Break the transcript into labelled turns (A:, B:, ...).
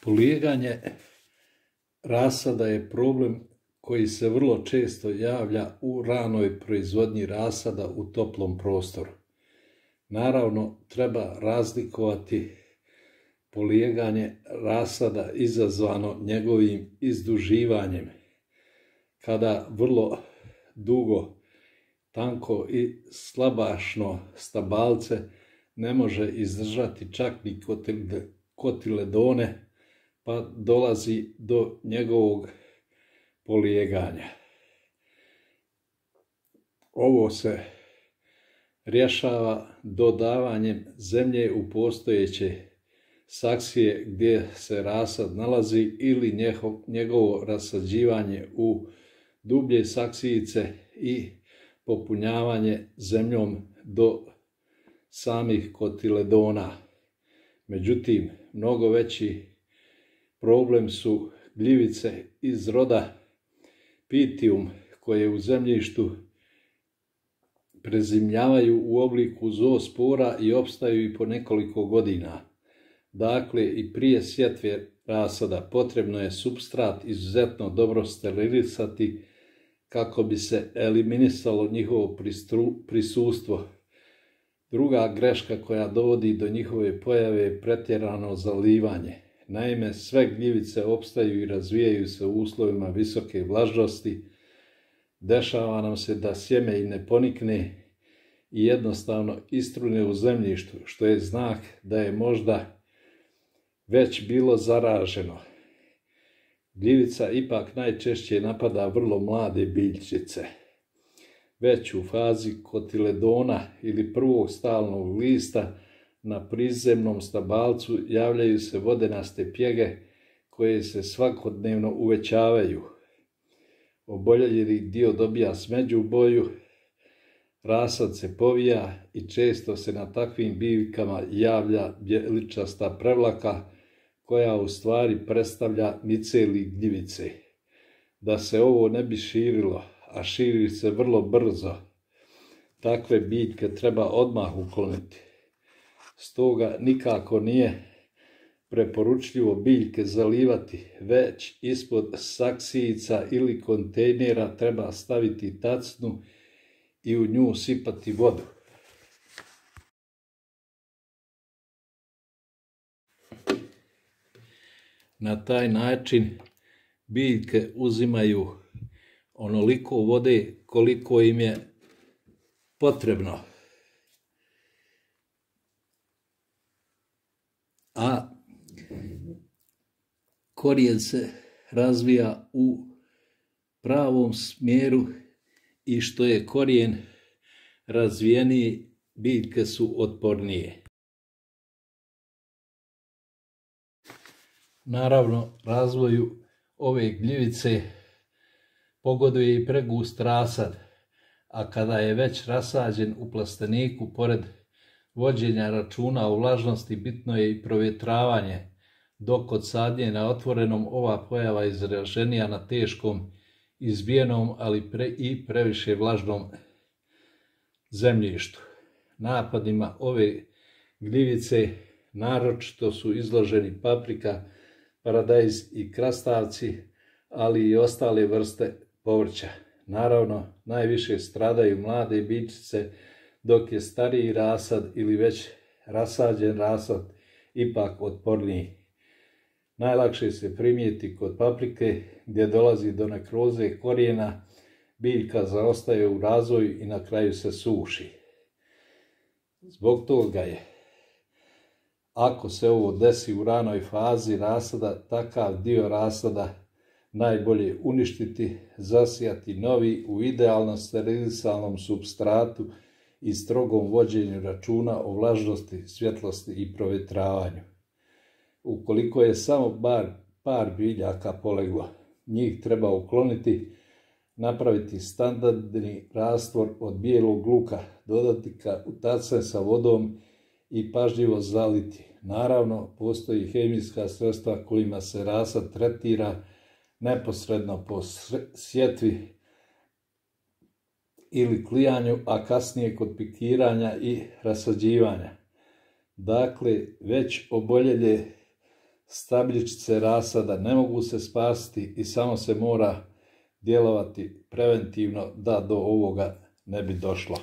A: Polijeganje rasada je problem koji se vrlo često javlja u ranoj proizvodnji rasada u toplom prostoru. Naravno, treba razlikovati polijeganje rasada izazvano njegovim izduživanjem, kada vrlo dugo, tanko i slabašno stabalce ne može izdržati čak ni kotiledone, pa dolazi do njegovog polijeganja. Ovo se rješava dodavanjem zemlje u postojeće saksije gdje se rasad nalazi ili njegovo rasađivanje u dublje saksijice i popunjavanje zemljom do samih kotiledona. Međutim, mnogo veći problem su gljivice iz roda Pythium koje u zemljištu prezimljavaju u obliku zoospora i opstaju i po nekoliko godina. Dakle, i prije sjetve rasada potrebno je supstrat izuzetno dobro sterilisati kako bi se eliminisalo njihovo prisustvo. Druga greška koja dovodi do njihove pojave je pretjerano zalivanje. Naime, sve gljivice opstaju i razvijaju se u uslovima visoke vlažnosti. Dešava nam se da sjeme i ne ponikne i jednostavno istrune u zemljištu, što je znak da je možda već bilo zaraženo. Gljivica ipak najčešće napada vrlo mlade biljčice. Već u fazi kotiledona ili prvog stalnog lista na prizemnom stabalcu javljaju se vodenaste pjege koje se svakodnevno uvećavaju. Oboljeli dio dobija smeđu boju, rasad se povija i često se na takvim biljkama javlja bjeličasta prevlaka koja u stvari predstavlja miceli gljivice. Da se ovo ne bi širilo, a širi se vrlo brzo, takve biljke treba odmah ukloniti. Stoga nikako nije preporučljivo biljke zalivati, već ispod saksijica ili kontejnera treba staviti tacnu i u nju sipati vodu. Na taj način biljke uzimaju onoliko vode koliko im je potrebno. A korijen se razvija u pravom smjeru i što je korijen razvijeniji, biljke su otpornije. Naravno, razvoju ove gljivice pogoduje i pregust rasad, a kada je već rasađen u plasteniku, pored vođenja računa o vlažnosti, bitno je i provjetravanje, dok kod sadnje na otvorenom ova pojava izraženija na teškom, izbijenom, ali i previše vlažnom zemljištu. Napadima ove gljivice naročito su izloženi paprika, paradajz i krastavci, ali i ostale vrste povrća. Naravno, najviše stradaju mlade biljčice, dok je stariji rasad ili već rasađen rasad ipak otporniji. Najlakše se primijeti kod paprike gdje dolazi do nekroze korijena, biljka zaostaje u razvoju i na kraju se suši. Zbog toga je, ako se ovo desi u ranoj fazi rasada, takav dio rasada najbolje uništiti, zasijati novi u idealno sterilisanom supstratu i strogom vođenju računa o vlažnosti, svjetlosti i provjetravanju. Ukoliko je samo par biljaka poleglo, njih treba ukloniti, napraviti standardni rastvor od bijelog luka, dodati ga u tacne sa vodom i pažljivo zaliti. Naravno, postoji hemijska sredstva kojima se rasad tretira neposredno po sjetvi ili klijanju, a kasnije kod pikiranja i rasađivanja. Dakle, već oboljele Stabljičice rasada ne mogu se spasiti i samo se mora djelovati preventivno da do ovoga ne bi došlo.